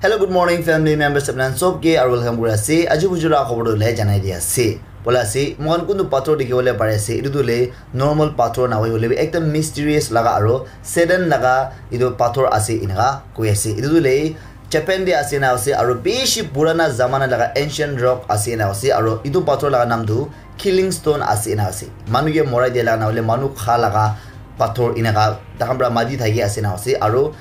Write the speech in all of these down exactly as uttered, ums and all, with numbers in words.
Hello, good morning, family members, apni khan sob ke aru welcome kuri ase. Aji bujura khobor tu le janai di ase. Bola ase, moikhan kuntu pathor dikhi bole pari ase. Etu tu le normal pathor na hoi hole bi ekta mysterious laga aru Satan laga etu pathor ase enaka koi ase. Etu tu le Japan te ase na ase aru bishi purana zamana laga ancient rock ase na ase aru etu pathor laga naam tu Killing Stone ase na ase. Manu ke morai dia laga na hole manu kha laga pathor enaka takhan para mati thaki ase na ase aru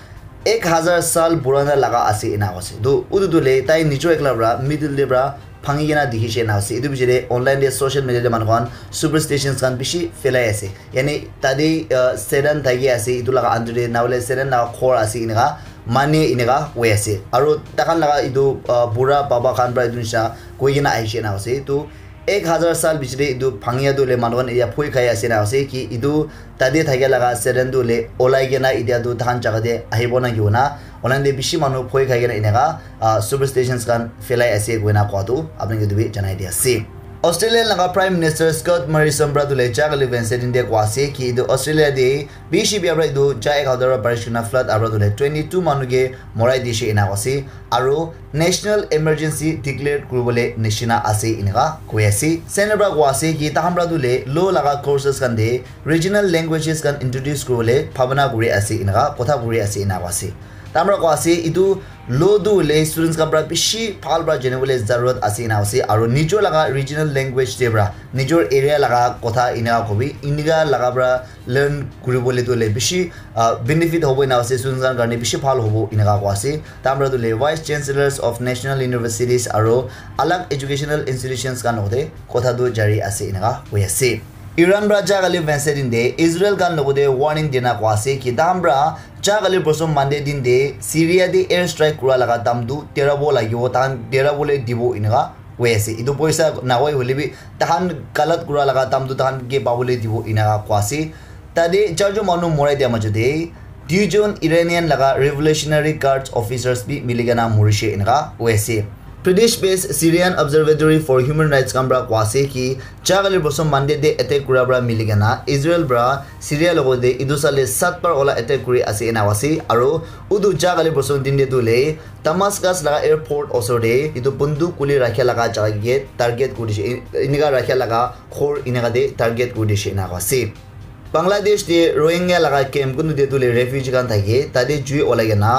ek hazar sal purana laga ase ena ase. Tu utu tu le tai nijor ekla para middle te para bhangi kena dikhi she ena ase. Etu piche te online te social media te manu khan superstitions khan bishi phelai ase. Yani tate uh, Satan thaki ase etu laga under te na hole Satan laga ghor ase enaka mane enaka hoi ase. Aru takhan laga etu uh, bura baba khan para etu nisha koi kena ahi she ena ase. Tu ek hazar sal piche te etu bhangia tu le manu khan etia phoi khai ase na ase ki etu tate thakia laga Satan tu le olai kena etia tu takhan jaga te ahibo na ki hona. Online te bishi manu phoi khai kena enaka uh, superstitions khan phelai ase koina koa tu apni ke tu bi janai di ase. Australia laga Prime Minister Scott Morrison para tu le ja kali Wednesday din te koa ase ki etu Australia te bishi bia para etu ja ek hazar para barish kena flood abra tu le twenty two manu ke morai di she ena ase aru national emergency declare kuribole nishina ase enaka koi ase. Center para koa ase ki takhan para tu le law laga courses khan te regional languages khan introduce kuribole bhabana kuri ase enaka kotha kuri ase enaka ase. Takhan para koa ase etu law tu le students khan para bishi bhal para janibole zarurat ase enaka ase aru nijor laga regional language te para nijor area laga kotha enaka kobi enaka laga para learn kuribole tu le bishi uh, benefit hobo ena ase students khan karne bishi bhal hobo enaka koa ase. Tamra tu le vice chancellors of national universities aru alag educational institutions khan logote kotha tu jari ase enaka hoi ase. Iran para ja kali Wednesday din te Israel khan logote warning dina koa ase ki tamra ja kali bosom Monday din te Syria te air strike kura laga dam tu derabo lagibo tahan derabole dibo enaka hoi ase. Etu poisa nahoi hoile bi tahan galat kura laga dam tu tahan ke pabole dibo enaka koa ase. Tate charjon manu morai dia majo te duijon Iranian laga Revolutionary Guards officers bi milikena morishe enaka hoi ase. British based Syrian Observatory for Human Rights khan para koa ase ki ja kali bosom Monday te attack kura para milikena Israel para Syria logote etu sale sat bar ola attack kuri ase ena ase aru utu ja kali bosom din te tu le Damascus laga airport osor te etu bunduk kuli rakha laga jaga ke target kuri dishe enaka rakha laga ghor enaka te target kuri dishe enaka ase. Bangladesh te Rohingya laga camp kuntu te tu le refugee khan thake tate jui olai kena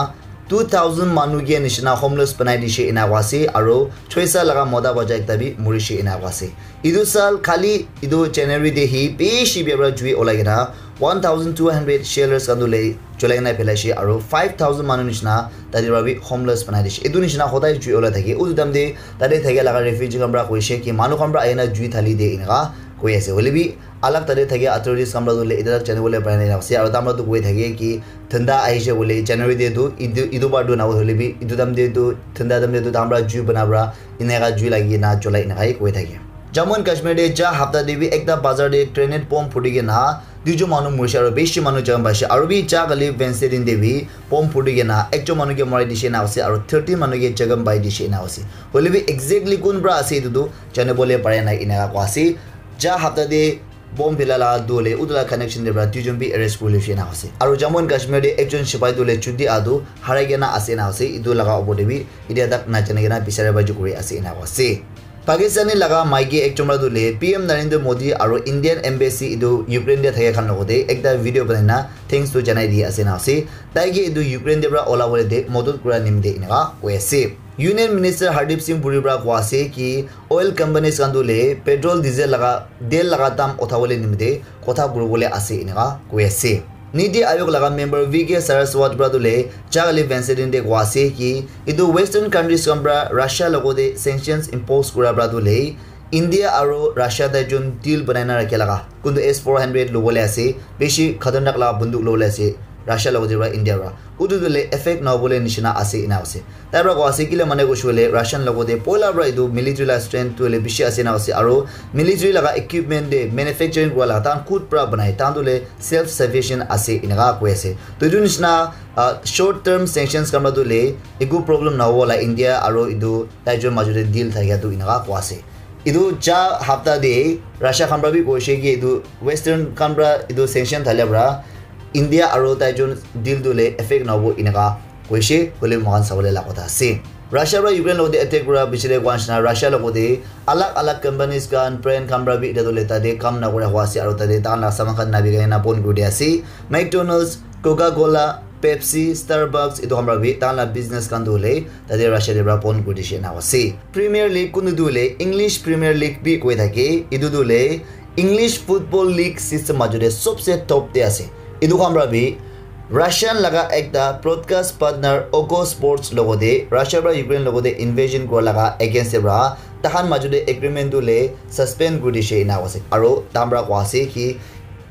two thousand manu ke nishina homeless banai dishe ena koa ase aru choisa laga mota bacha ekta bi murishe ena koa ase. Etu sal khali etu January te hi bishi bia para jui olai kena one thousand two hundred shelters khan tu le cholai kena phelai she aru five thousand manu nishina tate para bi homeless banai dishe. Etu nishina hodai jui olai thake utu time te tate thakia laga refugee khan para koishe ki manu khan para ahina jui thali de enaka koi ase. Hoile bi alag tate thakia authorities khan para tu le etia tak janibole para nai ase aru tamra tu koi thake ki thanda ahishe bole January te tu etu etu bar tu na hoile bi etu time te tu thanda time te tu tamra jui bana para enaka jui lagi na cholai enaka hi koi thake. Jammu and Kashmir te ja hapta te bi ekta bazar te grenade bomb phuti kena duijon manu morishe aru bishi manu jakham paishe aru bi ja kali Wednesday din te bi bomb phuti kena ekjon manu ke marai dishe na ase aru thirteen manu ke jakham pai dishe na ase. Hoile bi exactly kun para ase etu tu janibole pare nai enaka koa ase. Ja hapta te bomb phila la dole utu la connection te para duijon bi arrest kuri lishe na ase aru Jammu and Kashmir te ekjon sipai tu le chuti adu harai kena ase na ase etu laga opor te bi etia tak na jani kena bisari bai kuri ase ena ase. Pakistani laga maiki ekjon para tu le P M Narendra Modi aru Indian embassy etu Ukraine te thaka khan logote ekta video banai na thanks tu janai di ase na ase. Tai ke etu Ukraine te para ola bole te modot kura nimite enaka koi ase. Union Minister Hardeep Singh Puri para koa ase ki oil companies khan tu le petrol diesel laga del laga dam utha bole nimite kotha kuri bole ase enaka koi ase. Niti Aayog laga member V K Saraswat para tu le ja kali Wednesday din te koa ase ki etu western countries khan para Russia logote sanctions impose kura para tu le India aru Russia tai jun deal banai na rakhe laga kuntu S four hundred lobole ase bishi khatarnak laga bunduk lobole ase Russia logote para India para utu tu le effect na hobole nishina ase ena ase. Tai para koa ase kile mane koishe koile Russian logote poila para etu military la strength tu hoile bishi ase na ase aru military laga equipment te manufacturing kura la tahan khud para banai tahan tu hoile self sufficient ase enaka koi ase. To etu nishina uh, short term sanctions khan para tu hoile eku problem na hobo la India aru etu tai jun majo te deal thakia tu enaka koa ase. Etu ja hapta te Russia khan para bi koishe ki etu western khan para etu sanction thalia para India aru tai jun deal tu hoile effect na hobo enaka koishe, hoile moikhan sabole la kotha ase. Russia pra Ukraine logode attack kura pichete koa nishina Russia logode alag alag companies khan, brand khan pra bi etia tu le tate kam nakura hua ase, aro tate tahan la saman khan nabikai na bon kuri dia ase. McDonald's, Coca-Cola, Pepsi, Starbucks, etu khan pra bi tahan la business khan tu hoile tate Russia te pra bon kuri dishe ena ase. Premier League kunu tu hoile English Premier League bi koi thake, etu tu hoile English Football League system majo te sobse top te ase. Etu khan pra bi Russian laga ekta broadcast partner Oko Sports logode Russia pra Ukraine logode invasion kura laga against te pra tahan majo te agreement tu le suspend kuri dishe ena ase. Aro tahan pra koa ase ki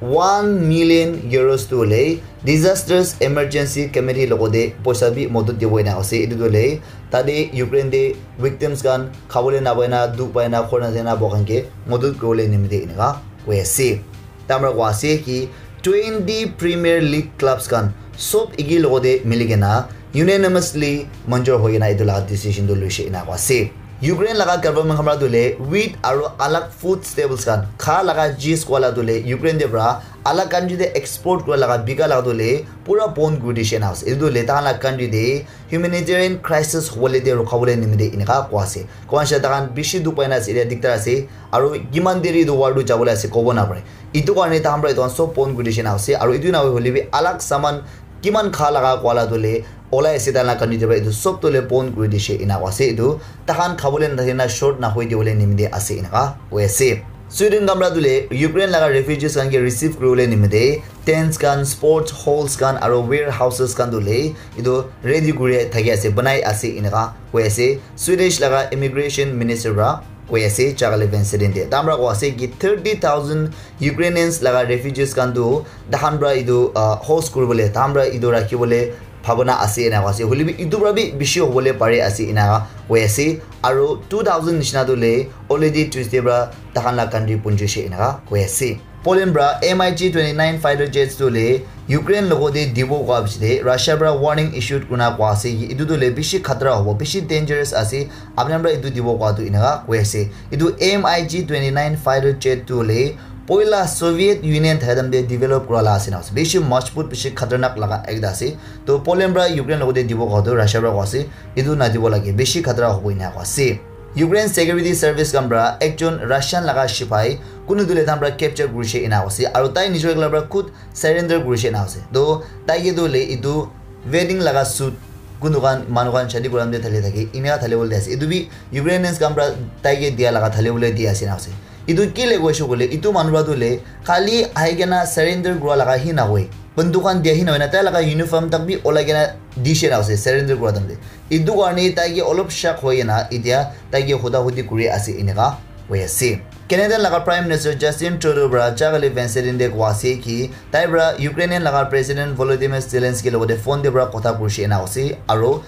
one million euros tu le Disasters Emergency Committee logode poisa bi modot dibo ena ase. Etu tu le tate Ukraine te victims khan khabole napai na, dukh pai na, khor na jai na bo khan ke modot kuribole nimite eneka koi ase. Tahan pra koa ase ki twenty Premier League clubs khan sob eki logode mili kena unanimously manjur hoi kena etu laga decision tu loishe ena koa ase. Ukraine laga government khan pra tu le wheat aro alag food staples khan kha laga jis koa la tu le Ukraine te pra alag country te export kura laga bika laga tu le pura bon kuri dishe ena ase. Etu tu le tahan la country te humanitarian crisis hobole te rukhabole nimite eneka koa ase. Koa nishina tahan bishi dukh pai na ase, etia diktar ase, aro kiman deri etu war tu jabole ase kobo napare. Etu karne tahan pra etu khan sob bon kuri dishe ena ase, aro etu na hoi hoile bi alag saman kiman kha laga koa la tu le olai ase tahan la country te pra etu sob tu le bon kuri dishe ena koa ase. Etu tahan khabole nathaki na short nahoi dibole nimite ase eneka koi ase. Sweden khan pra tu le Ukraine laga refugees khan ke receive kuribole nimite tents khan, sports halls khan aro warehouses khan tu le etu ready kuri thaki ase, banai ase eneka koi ase Swedish laga immigration minister pra koi ase Charlie Van Seden te. Tahan pra koa ase ki thirty thousand Ukrainians laga refugees khan tu tahan pra etu, ah, host kuribole, tahan pra etu rakhibole bhabona ase eneka ase. Hoile bi etu pra bi bishi hobole pare ase eneka koi ase. Aro two thousand nishina tu le already Tuesday pra tahan la country punjishe eneka koi ase. Poland pra M I G twenty-nine fighter jets tu le Ukraine logode dibo koa pichete Russia pra warning issued kurina koa ase ki etu tu le bishi khatra hobo, bishi dangerous ase, apni khan pra etu dibo koa tu eneka koi ase. Etu M I G twenty-nine fighter jet tu le poila Soviet Union thaka time te develop kura la ase na ase. Bishi majbut, bishi khatarnak laga ekta ase. To Poland pra Ukraine logode dibo koa tu Russia pra koa ase, etu nadibo lage, bishi khatra hobo eneka koa ase. Ukraine Security Service khan pra ekjon Russian laga sipai kunu tu le tahan pra capture kurishe eneka ase, aro tai nijor ekla pra khud surrender kurishe eneka ase. To tai ke tu le etu wedding laga suit kunu khan manu khan shadi kura time te thali thake eneka thali bole ase. Etu bi Ukrainians khan pra tai ke dia laga thali bole di ase eneka ase. Etu ki le koishe koile etu manu pra tu le khali ahi kena surrender kura laga hi nahoi, banduk khan dia hi nahoi na tai laga uniform tak bi olai kena dishe eneka ase surrender kura time te. Etu karne tai ke olop shak hoi kena etia tai ke huda hudi kuri ase eneka hoi ase. Canadian laga Prime Minister Justin Trudeau pra Charlie Van Seden te koa ase ki tai pra Ukrainian laga President Volodymyr Zelensky logode phone te pra kotha kurishe eneka ase, aro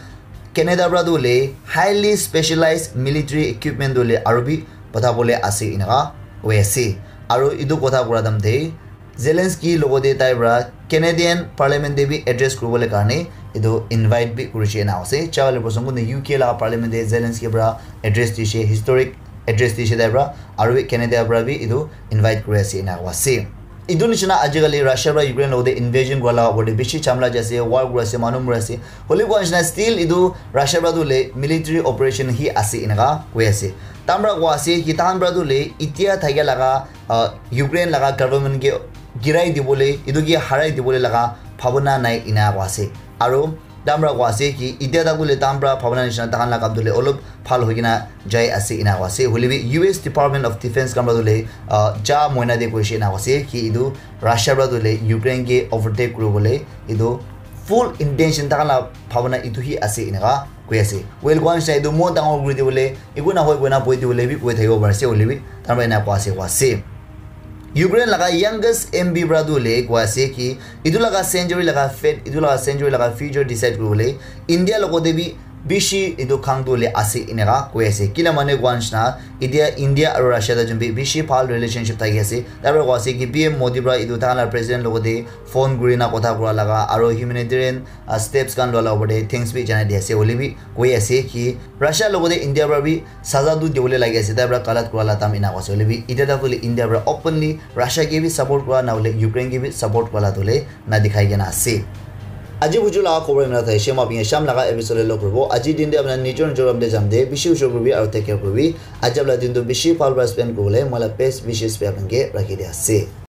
Canada pra tu le highly specialized military equipment tu le aro bi pathabole ase eneka koi ase. Aro etu kotha kura time te Zelensky logode tai pra Canadian Parliament te bi address kuribole karne etu invite bi kurishe eneka ase. Charlie person kunu U K laga Parliament te Zelensky pra address dishe, historic address dishe tai pra, aro bi Canada pra bi etu invite kuri ase eneka koa ase. Etu nishina ajikali Russia pra Ukraine logode invasion kura laga opor te bishi chamla jai ase, war kuri ase, manu mori ase. Hoile koa nishina still etu Russia pra tu le military operation hi ase eneka koi ase. Tahan pra koa ase ki tahan pra tu le etia thakia laga, ah, Ukraine laga government ke girai dibole, etu ke harai dibole laga bhabona nai eneka koa ase. Aro tahan pra koa ase ki etia tak tu le tahan pra bhabona nishina tahan la kam tu le olop bhal hoi kena jai ase eneka koa ase. Hoile bi U S Department of Defense khan pra tu le, ah, ja moina te koishe eneka koa ase ki etu Russia pra tu le Ukraine ke overtake kuribole etu full intention tahan la bhabona etu hi ase eneka koi ase. Well, koa nishina etu mon dangor kuri dibole, eku nahoi koina boi dibole bi koi thakibo pari ase, hoile bi tahan pra eneka koa ase, koa ase. Ukraine laga youngest M P pra tu le koa ase ki etu laga century laga fate, etu laga century laga future decide kuribole India logode bi bishi etu khang tu le ase eneka koi ase. Kila mane koa nishina etia India aro Russia ta jun bi bishi bhal relationship thaki ase. Tai pra koa ase ki P M Modi pra etu tahan la president logode phone kuri na kotha kura laga aro humanitarian, ah, steps khan lua la opor te thanks bi janai di ase. Hoile bi koi ase ki Russia logode India pra bi saza tu dibole lagi ase, tai pra galat kura la time eneka koa ase. Hoile bi etia tak tu le India pra openly Russia ke bi support kura na hole Ukraine ke bi support kura la tu le na dikhai kena ase. Aji buju laga khobor imna thai shema pinge sham laga episode lo kuribo. Aji din de apna nijor nijor ram de jam de bishi ujor kuribi aru take care kuribi. Aji apna din tu bishi bhal para spend kuribole moi la best wishes pe apna ke rakhi de ase.